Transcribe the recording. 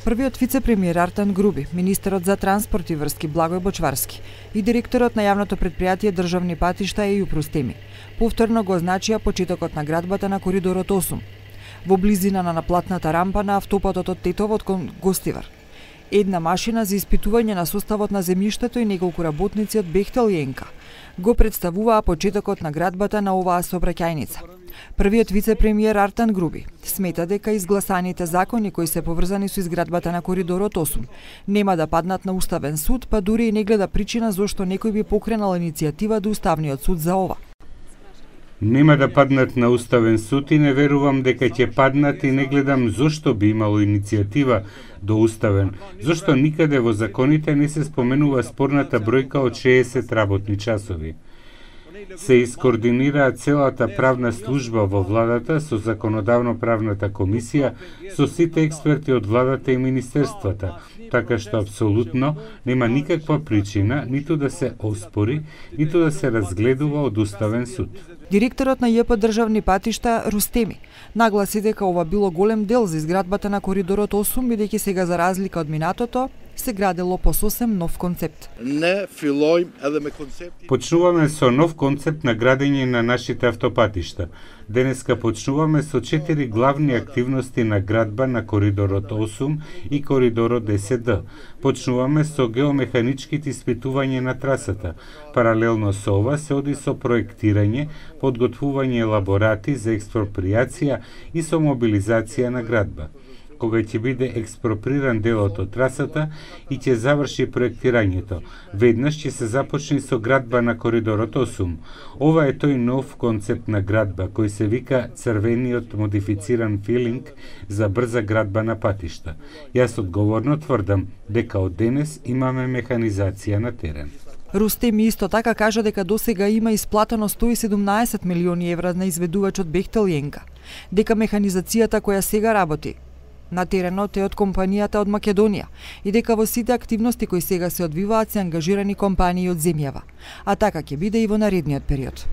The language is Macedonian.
Првиот вице-премиер Артан Груби, министерот за транспорт и врски Благој Бочварски и директорот на јавното предпријатие Државни патишта Ејуп Рустеми повторно го означија почетокот на градбата на коридорот 8 во близина на наплатната рампа на автопатот од Тетово кон Гостивар. Една машина за испитување на составот на земјиштето и неколку работници од Бехтел и ЕНКА го представуваа почетокот на градбата на оваа сообраќајница. Првиот вице-премиер Артан Груби смета дека изгласаните закони кои се поврзани со изградбата на коридорот 8 нема да паднат на Уставен суд, па дури и не гледа причина зошто некој би покренал иницијатива до Уставниот суд за ова. Нема да паднат на Уставен суд и не верувам дека ќе паднат и не гледам зошто би имало иницијатива до Уставен, зошто никаде во законите не се споменува спорната бројка од 60 работни часови. Се искоординира целата правна служба во владата со законодавно-правната комисија, со сите експерти од владата и министерствата, така што апсолутно нема никаква причина ниту да се оспори, ниту да се разгледува од Уставен суд. Директорот на ЈП Државни патишта Рустеми нагласи дека ова било голем дел за изградбата на коридорот 8, бидејќи сега за разлика од минатото се градело по сосем нов концепт. Почнуваме со нов концепт на градење на нашите автопатишта. Денеска почнуваме со 4 главни активности на градба на коридорот 8 и коридорот 10Д. Почнуваме со геомеханичките испитување на трасата. Паралелно со ова се оди со проектирање, подготвување елаборати за експропријација и со мобилизација на градба. Кога ќе биде експроприран делот од трасата и ќе заврши проектирањето, веднаш ќе се започне со градба на коридорот 8. Ова е тој нов концепт на градба кој се вика црвениот модифициран филинг за брза градба на патишта. Јас одговорно тврдам дека од денес имаме механизација на терен. Рустеми исто така кажа дека досега има исплатено 117 милиони евра на изведувачот Бехтел и ЕНКА, дека механизацијата која сега работи на теренот е од компанијата од Македонија и дека во сите активности кои сега се одвиваат се ангажирани компании од земјава, а така ќе биде и во наредниот период.